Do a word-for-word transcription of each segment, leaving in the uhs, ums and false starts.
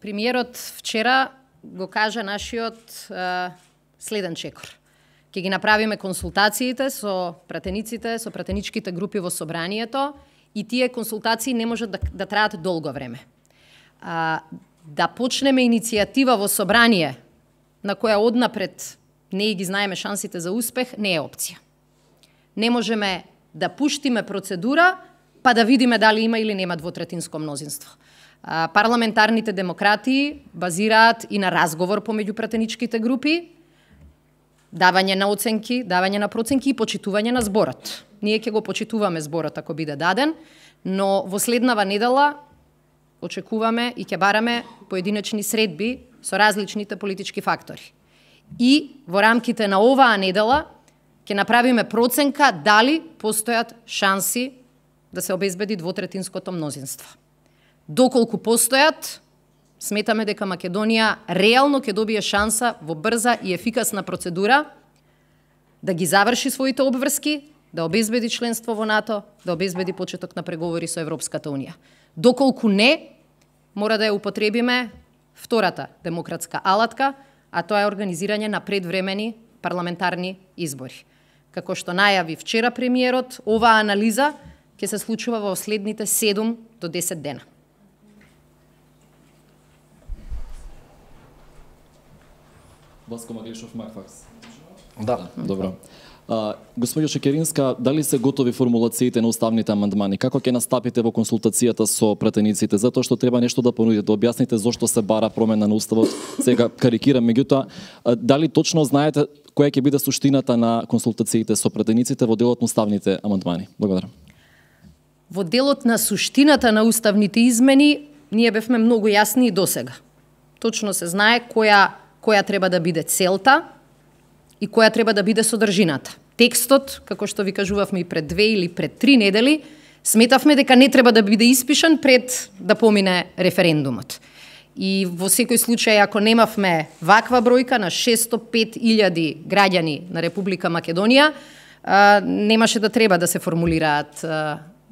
Премиерот вчера го кажа нашиот е, следен чекор. Ќе ги направиме консултациите со пратениците, со пратеничките групи во собранието и тие консултации не можат да, да траат долго време. А, да почнеме иницијатива во собрание на која однапред не ги знаеме шансите за успех, не е опција. Не можеме да пуштиме процедура, па да видиме дали има или нема двотретинско мнозинство. А, парламентарните демократии базираат и на разговор помеѓу пратеничките групи, давање на оценки, давање на проценки и почитување на зборот. Ние ќе го почитуваме зборот ако биде даден, но во следнава недела очекуваме и ќе бараме поединечни средби со различните политички фактори. И во рамките на оваа недела ќе направиме проценка дали постојат шанси да се обезбеди двотретинското мнозинство. Доколку постојат, сметаме дека Македонија реално ќе добие шанса во брза и ефикасна процедура да ги заврши своите обврски, да обезбеди членство во НАТО, да обезбеди почеток на преговори со Европската Унија. Доколку не, мора да ја употребиме втората демократска алатка, а тоа е организирање на предвремени парламентарни избори. Како што најави вчера премиерот, оваа анализа ќе се случува во следните седум до десет дена. Васко Маглишов, Макфакс. Да. Добро. А, Господјо Шекеринска, дали се готови формулациите на уставните амандмани? Како ќе настапите во консултацијата со пратениците? Затоа што треба нешто да понудите, да објасните зошто се бара промена на уставот. Сега карикирам, меѓутоа, дали точно знаете која ќе биде суштината на консултациите со пратениците во делот на уставните амандмани? Благодарам. Во делот на суштината на уставните измени, ние бевме многу јасни и досега. Точно се знае која која треба да биде целта и која треба да биде содржината. Текстот, како што ви кажувавме и пред две или пред три недели, сметавме дека не треба да биде испишан пред да помине референдумот. И во секој случај, ако немавме ваква бројка на шестстотини и пет илјади граѓани на Република Македонија, немаше да треба да се формулираат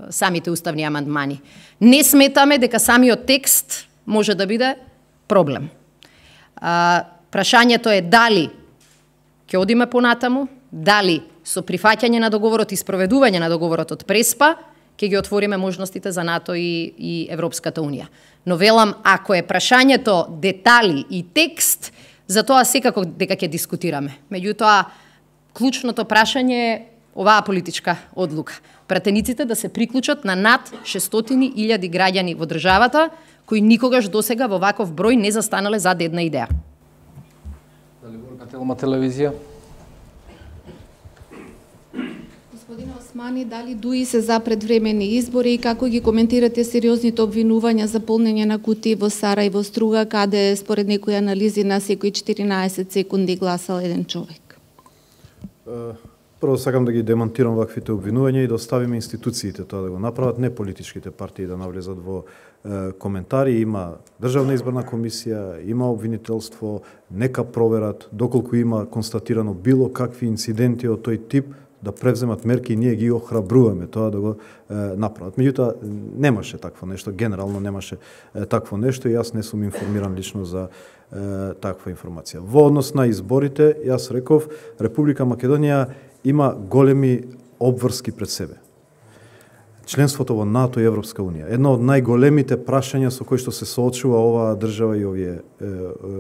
самите уставни амандмани. Не сметаме дека самиот текст може да биде проблем. Прашањето е дали ќе одиме понатаму, дали со прифаќање на договорот и спроведување на договорот од Преспа ќе ги отвориме можностите за НАТО и, и Европската Унија. Но велам, ако е прашањето детали и текст, за тоа секако дека ќе дискутираме. Меѓутоа, клучното прашање е оваа политичка одлука. Пратениците да се приклучат на над шестстотини илјади граѓани во државата, кои никогаш досега во ваков број не застанале зад една идеја. Дали Горка Телма телевизија? Господине Османи, дали ДУИ се за предвремени избори и како ги коментирате сериозните обвинувања за полнење на кутии во Сарајево Струга, каде според некои анализи на секои четиринаесет секунди гласал еден човек? Прво сакам да ги демонтирам ваквите обвинувања и да оставиме институциите тоа да го направат, не политичките партии да навлезат во е, коментари. Има Државна изборна комисија, има обвинителство, нека проверат, доколку има констатирано било какви инциденти од тој тип, да превземат мерки и ние ги охрабруваме тоа да го е, направат. Меѓутоа, немаше такво нешто, генерално немаше е, такво нешто и јас не сум информиран лично за е, таква информација. Во однос на изборите, јас реков, Република Македонија има големи обврски пред себе. Членството во НАТО и Европска Унија. Едно од најголемите прашања со кои што се соочува оваа држава и овие, е,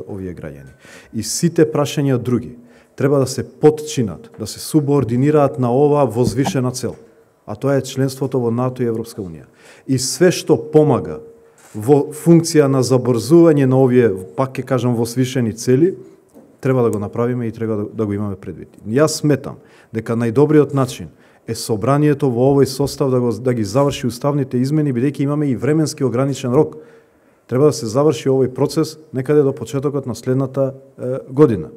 овие граѓани. И сите прашања други треба да се потчинат, да се субординираат на оваа возвишена цел. А тоа е членството во НАТО и Европска Унија. И све што помага во функција на забрзување на овие, пак ќе кажам, возвишени цели, треба да го направиме и треба да, да го имаме предвид. Јас сметам дека најдобриот начин е собранието во овој состав да, го, да ги заврши уставните измени, бидејќи имаме и временски ограничен рок. Треба да се заврши овој процес некаде до почетокот на следната е, година.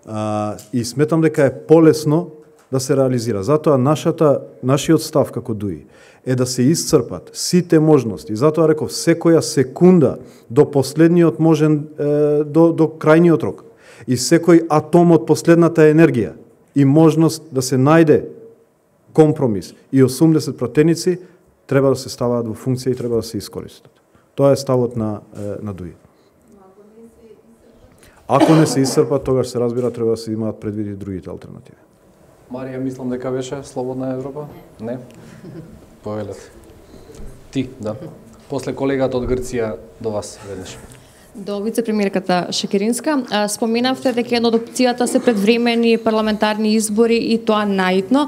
А, и сметам дека е полесно да се реализира. Затоа нашата, нашиот став како ДУИ е да се исцрпат сите можности. Затоа реков, секоја секунда до последниот можен, е, до, до крајниот рок. И секој атом од последната енергија и можност да се најде компромис и осумдесет пратеници треба да се ставаат во функција и треба да се искористат. Тоа е ставот на, на ДУИ. Ако не се исцрпат, тогаш се разбира треба да се имаат предвиди другите алтернативи. Марија, мислам дека беше Слободна Европа? Не? Повелете. Ти, да. После колегата од Грција до вас веднаш. До вице-премиерката Шекеринска, споменавте дека една од опцијата се предвремени парламентарни избори и тоа наидно.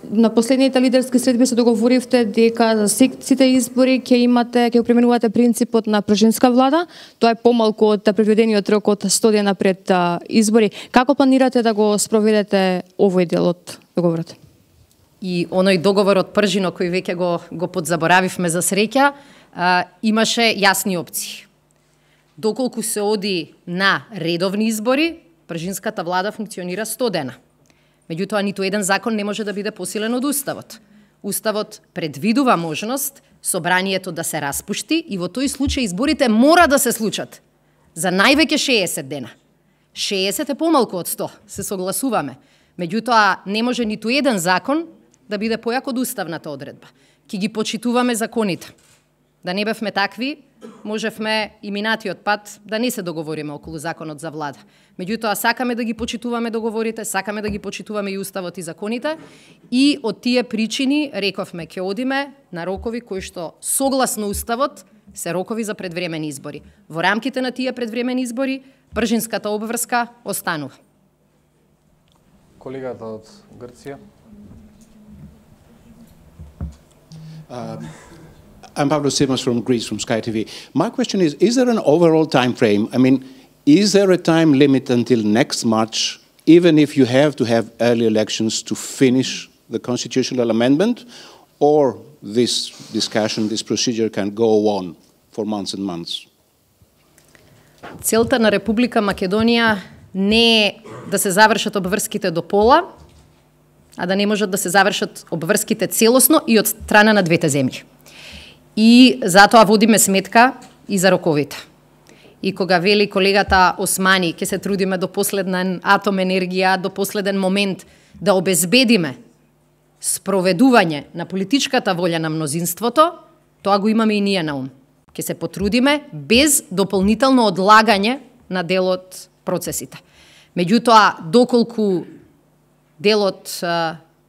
На последните лидерски средби се договоривте дека за сите избори ќе имате, ќе применувате принципот на пржинска влада. Тоа е помалку од предвидениот рок од сто дена пред избори. Како планирате да го спроведете овој дел од договорот? И оној договор од Пржино кој веќе го го подзаборавивме за среќа, а, имаше јасни опции. Доколку се оди на редовни избори, пржинската влада функционира сто дена. Меѓутоа, ниту еден закон не може да биде посилен од Уставот. Уставот предвидува можност собранието да се распушти и во тој случај изборите мора да се случат за највеќе шеесет дена. шеесет е помалку од сто, се согласуваме. Меѓутоа, не може ниту еден закон да биде појак од уставната одредба. Ки ги почитуваме законите. Да не бевме такви, можевме и минатиот пат да не се договориме околу законот за влада. Меѓутоа, сакаме да ги почитуваме договорите, сакаме да ги почитуваме и уставот и законите и од тие причини рековме ќе одиме на рокови кои што согласно уставот се рокови за предвремени избори. Во рамките на тие предвремени избори, пржинската обврска останува. Колегата од Грција. Uh, I'm Pavlos Simos from Greece, from Sky T V. My question is, is there an overall time frame? I mean, is there a time limit until next March, even if you have to have early elections to finish the constitutional amendment, or this discussion, this procedure can go on for months and months? Целта на Република Македонија не е да се завршат обврските до пола, а да не можат да се завршат обврските целосно и од страна на двете земји. И затоа водиме сметка и за роковите. И кога вели колегата Османи, ќе се трудиме до последен атом енергија, до последен момент да обезбедиме спроведување на политичката волја на мнозинството, тоа го имаме и ние на ум. Ќе се потрудиме без дополнително одлагање на дел од процесите. Меѓутоа, доколку делот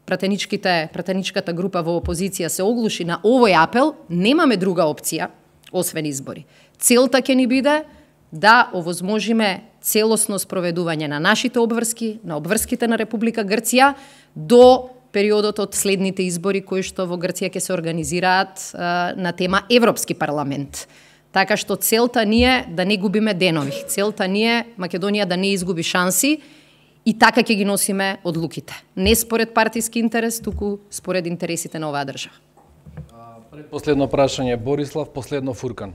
пратеничките, пратеничката група во опозиција се оглуши на овој апел, немаме друга опција, освен избори. Целта ќе ни биде да овозможиме целосно спроведување на нашите обврски, на обврските на Република Грција, до периодот од следните избори кои што во Грција ќе се организираат а, на тема Европски парламент. Така што целта ни е да не губиме денови. Целта ни е Македонија да не изгуби шанси и така ќе ги носиме одлуките. Не според партиски интерес, туку според интересите на оваа држава. Последно прашање, Борислав, последно Фуркан.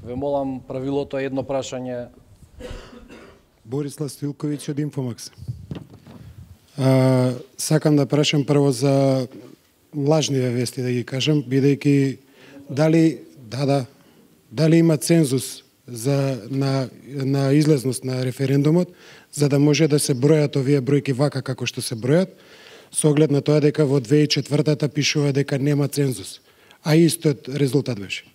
Ве молам, правилото е едно прашање. Борислав Стилковиќ од Инфомакс. А, сакам да прашам прво за лажниве вести, да ги кажам, бидејќи дали, да, да, дали има цензус за, на, на излезност на референдумот, за да може да се бројат овие бројки вака како што се бројат, со оглед на тоа дека во две тисачи и четвртата пишува дека нема цензус, а истиот резултат беше.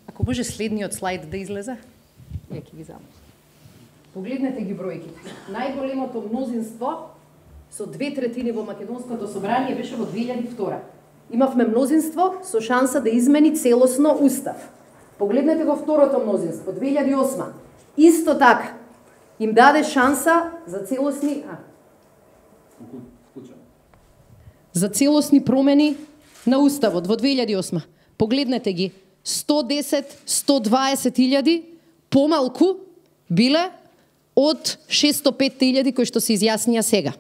Ако може следниот слайд да излезе, ја ќе ги замам. Погледнете ги бројките. Најголемото мнозинство со две третини во Македонското собрание беше во две илјади и втора. Имавме мнозинство со шанса да измени целосно устав. Погледнете го второто мнозинство, две илјади и осма. Исто така, им даде шанса за целосни... А. За целосни промени на уставот во две илјади и осма. Погледнете ги, сто десет до сто дваесет илјади помалку биле од шестоста и пет илјади кои што се изјаснија сега.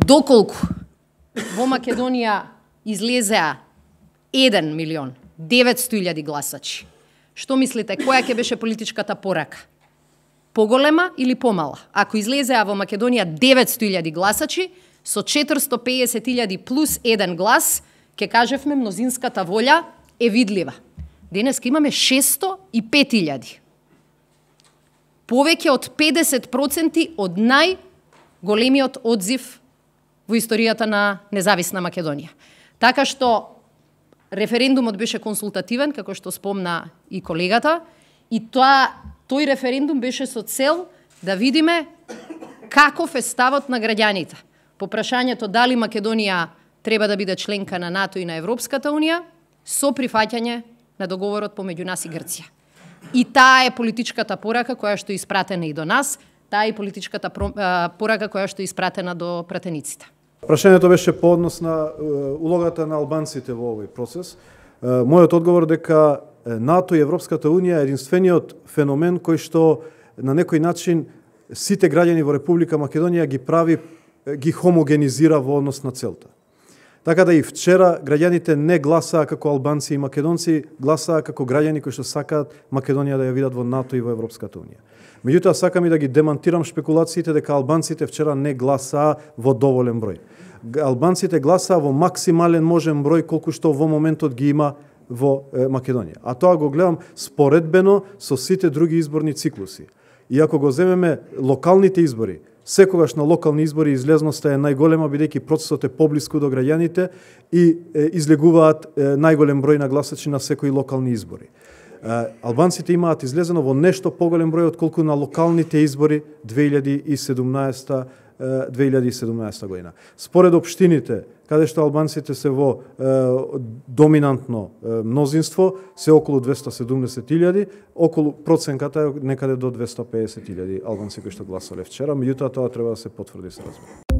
Доколку во Македонија излезеа еден милион деветстотини илјади гласачи, што мислите, која ќе беше политичката порака? Поголема или помала? Ако излезеа во Македонија деветстотини илјади гласачи, со четиристотини и педесет илјади плюс еден глас, ќе кажевме мнозинската волја е видлива. Денеска имаме шестстотини и пет илјади. Повеќе од педесет проценти од најголемиот одзив во историјата на независна Македонија. Така што референдумот беше консултативен, како што спомна и колегата, и тоа тој референдум беше со цел да видиме каков е ставот на граѓаните по прашањето дали Македонија треба да биде членка на НАТО и на Европската унија со прифаќање на договорот помеѓу нас и Грција. И таа е политичката порака која што е испратена и до нас, таа е политичката порака која што е испратена до пратениците. Прашањето беше по однос на улогата на албанците во овој процес. Мојот одговор дека НАТО и Европската унија е единствениот феномен кој што на некој начин сите граѓани во Република Македонија ги прави, ги хомогенизира во однос на целта. Така да и вчера граѓаните не гласаа како албанци и македонци, гласаа како граѓани кои што сакаат Македонија да ја видат во НАТО и во Европската унија. Меѓутоа сакам и да ги демантирам шпекулациите дека албанците вчера не гласаа во доволен број. Албанците гласаа во максимален можен број колку што во моментот ги има во Македонија. А тоа го гледам споредбено со сите други изборни циклуси. И ако го земеме локалните избори, секогаш на локални избори излезноста е најголема, бидејќи процесот е поблиску до граѓаните и излегуваат најголем број на гласачи на секои локални избори. Албанците имаат излезено во нешто поголем број отколку на локалните избори две илјади и седумнаесета година. Според општините, каде што албанците се во е, доминантно е, мнозинство, се околу двесте и седумдесет илјади, околу проценката е некаде до двесте и педесет илјади албанци кои што гласале вчера, меѓутоа тоа треба да се потврди се разбира.